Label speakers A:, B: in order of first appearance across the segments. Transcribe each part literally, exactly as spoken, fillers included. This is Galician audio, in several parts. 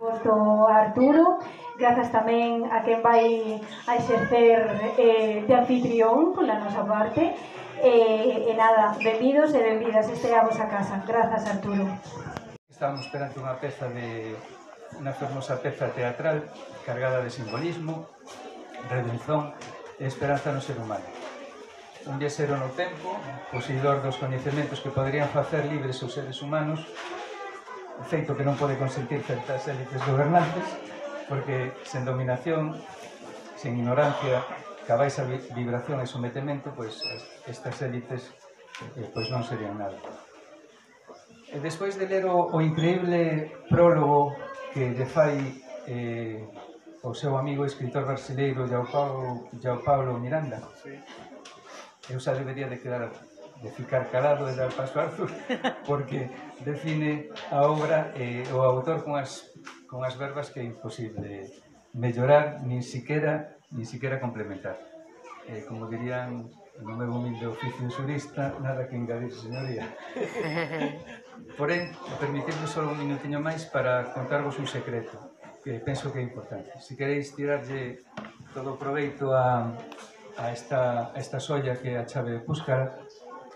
A: Do Arturo, grazas tamén a quen vai a exercer eh, de anfitrión pola nosa parte e, e nada, benvidos e benvidas, este é a vosa casa. Grazas, Arturo.
B: Estamos perante unha peza de unha fermosa peza teatral cargada de simbolismo, redención e esperanza no ser humano. Un viaxeiro no tempo, poseidor dos coñecementos que poderían facer libres os seres humanos, feito que non pode consentir certas élites gobernantes, porque sen dominación, sen ignorancia, ca baixa vibración e sometemento, pois estas élites eh, pois non serían nada. E despois de ler o, o increíble prólogo que lle fai eh, o seu amigo escritor brasileiro João Paulo, João Paulo Miranda, eu xa debería de quedar de ficar calado e dar paso a Arthur, porque define a obra e eh, o autor con as, con as verbas que é imposible mellorar, nin siquiera, nin siquiera complementar. Eh, como dirían no meu humilde oficio xurista, nada que engadir, señoría. Porén, permitidme só un minutiño máis para contarvos un secreto, que penso que é importante. Se queréis tirarlle todo o proveito a, a, esta, a esta solla que é a chave de Púscara,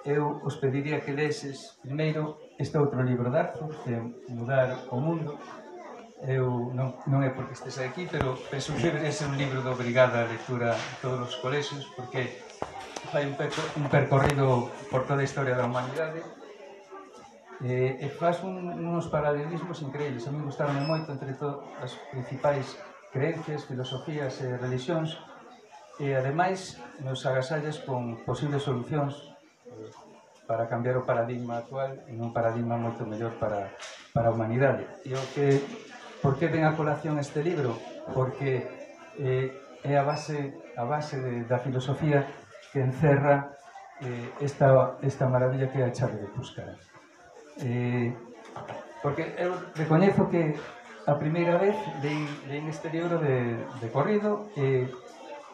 B: eu os pediría que leses primeiro este outro libro de Arthur, que é Mudar o Mundo. Eu non, non é porque estes aquí, pero penso que debería ser un libro de obrigada lectura en todos os colexios, porque fai un, perco, un percorrido por toda a historia da humanidade e, e faz un, uns paralelismos increíbles. A mí gustaron moito entre todas as principais creencias, filosofías e religións, e ademais nos agasallas con posibles solucións para cambiar o paradigma actual en un paradigma moito mellor para, para a humanidade. E o que, por que ven a colación este libro? Porque eh, é a base, a base de, da filosofía que encerra eh, esta, esta maravilla que é a chave de Púscara. Eh, porque eu recoñezo que a primeira vez leí, leí este libro de, de corrido e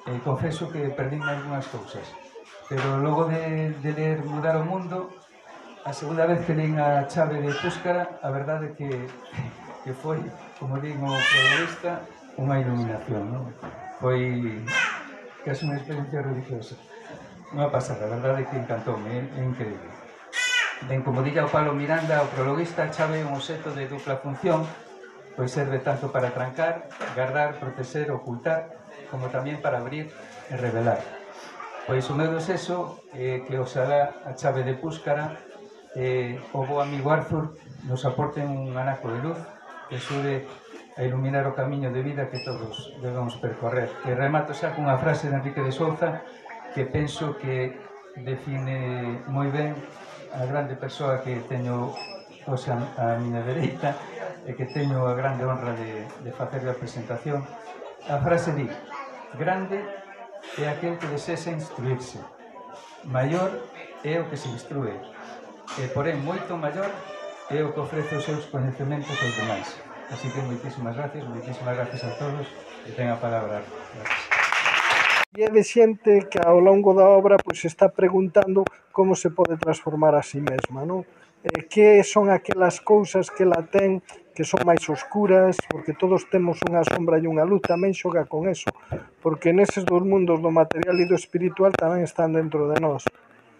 B: eh, confeso que perdín algunhas cousas. Pero logo de, de ler Mudar o Mundo, a segunda vez que leín a chave de Púscara, a verdade que, que foi, como digo o protagonista, unha iluminación, non? Foi casi unha experiencia religiosa. Unha pasada, a verdade que encantoume, é, é increíble. Ben, como dilla o Paulo Miranda, o prologuista, a chave é un obxecto de dupla función, pois serve tanto para trancar, guardar, proteger, ocultar, como tamén para abrir e revelar. Pois o meu desexo é que oxalá a chave de Púscara e o bo amigo Arthur nos aporten un anaco de luz que axude a iluminar o camiño de vida que todos debemos percorrer. E remato xa cunha frase de Enrique de Souza que penso que define moi ben a grande persoa que teño hoxe a miña dereita e que teño a grande honra de, de facer a presentación. A frase di: grande é aquel que desexa instruirse, maior é o que se instrue, e porén moito maior é o que ofrece os seus coñecementos aos demais. Así que moitísimas gracias, moitísimas gracias a todos e ten a palabra. Gracias.
C: E é de xente que ao longo da obra pois, está preguntando como se pode transformar a si mesma, non? Eh, que son aquelas cousas que la ten que son máis oscuras, porque todos temos unha sombra e unha luz, tamén xoga con eso, porque neses dos mundos do material e do espiritual tamén están dentro de nós.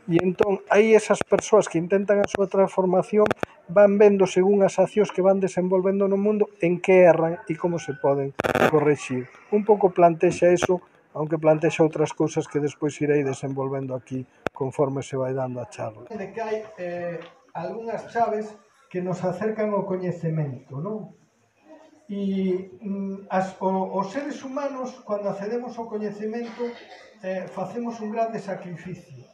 C: E entón, aí esas persoas que intentan a súa transformación van vendo según as accións que van desenvolvendo no mundo en que erran e como se poden correxir. Un pouco plantexa eso, aunque plantexa outras cousas que despois irei desenvolvendo aquí conforme se vai dando a charla. De que hai eh, algunhas chaves que nos acercan ao coñecemento, non? E mm, as, o, os seres humanos, cando accedemos ao coñecemento, eh, facemos un grande sacrificio.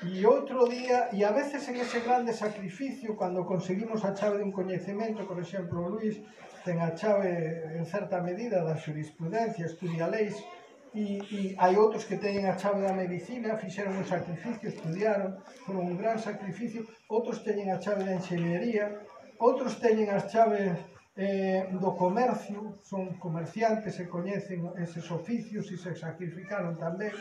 C: E outro día, e a veces en ese grande sacrificio, cando conseguimos a chave dun coñecemento, por exemplo, Luís ten a chave en certa medida da xurisprudencia, estudia leis, e, e hai outros que teñen a chave da medicina, fixeron un sacrificio, estudiaron, foron un gran sacrificio, outros teñen a chave da enxeñería, outros teñen as chaves eh, do comercio, son comerciantes e coñecen eses oficios e se sacrificaron tamén.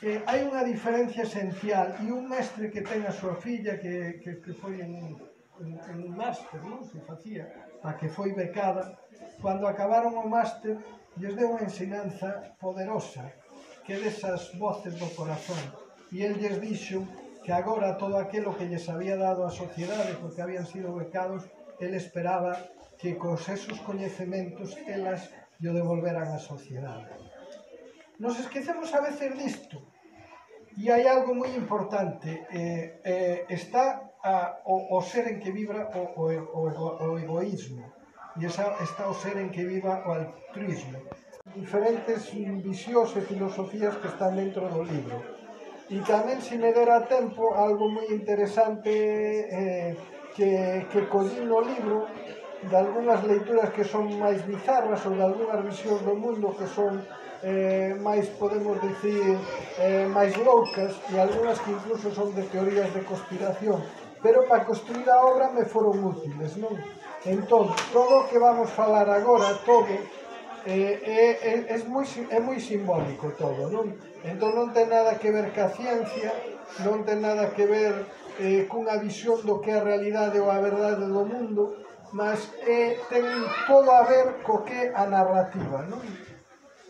C: Eh, hai unha diferencia esencial e un mestre que ten a súa filla que, que, que foi en, en, en máster, non? Se facía, a que foi becada. Cando acabaron o máster, lles deu unha ensinanza poderosa, que desas voces do corazón. E el lles dixo que agora todo aquilo que lles había dado a sociedade, porque habían sido becados, el esperaba que cos esos coñecementos elas lle devolveran á sociedade. Nos esquecemos a veces disto, e hai algo moi importante, eh, eh, está a, o, o ser en que vibra o, o, o, o egoísmo, e esa, está o ser en que viva o altruismo. Diferentes visións e filosofías que están dentro do libro. E tamén, se me dera tempo, algo moi interesante eh, que, que collí no libro, de algunhas leituras que son máis bizarras ou de algunhas visións do mundo que son eh, máis, podemos dicir, eh, máis loucas, e algunhas que incluso son de teorías de conspiración, pero para construir a obra me foron útiles, non? Entón, todo o que vamos falar agora, todo, eh, é, é, é, moi, é moi simbólico todo, non? Entón non ten nada que ver ca ciencia, non ten nada que ver eh, cunha visión do que é a realidade ou a verdade do mundo, mas eh, ten todo a ver co que a narrativa, non?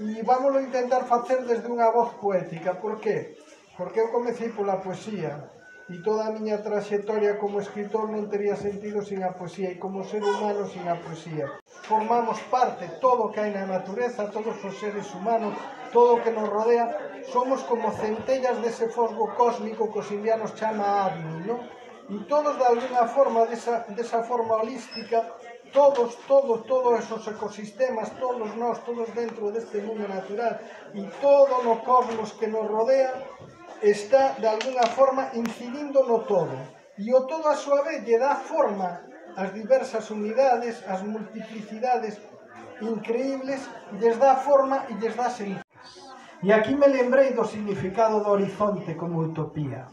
C: E vámoslo intentar facer desde unha voz poética. Por qué? Porque eu comecei pola poesía e toda a miña traxectoria como escritor non tería sentido sin a poesía e como ser humano sin a poesía. Formamos parte, todo o que hai na natureza, todos os seres humanos, todo o que nos rodea, somos como centellas dese fosgo cósmico que os indianos chama Agni, non? E todos, de alguna forma, desa, desa forma holística, todos, todos, todos esos ecosistemas, todos nós, todos dentro deste mundo natural e todo no cosmos que nos rodea, está, de alguna forma, incidindo no todo. E o todo, a súa vez, lle dá forma ás diversas unidades, ás multiplicidades increíbles, lles dá forma e lles dá sentido. E aquí me lembrei do significado do horizonte como utopía.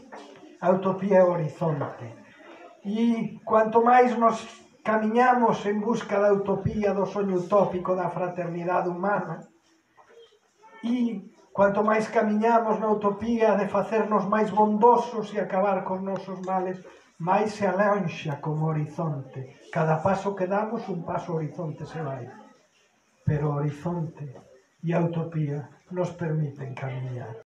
C: A utopía é o horizonte. E cuanto máis nos camiñamos en busca da utopía, do soño utópico da fraternidade humana, e cuanto máis camiñamos na utopía de facernos máis bondosos e acabar cos nosos males, máis se alonxa como horizonte. Cada paso que damos, un paso ao horizonte se vai. Pero o horizonte e a utopía nos permiten camiñar.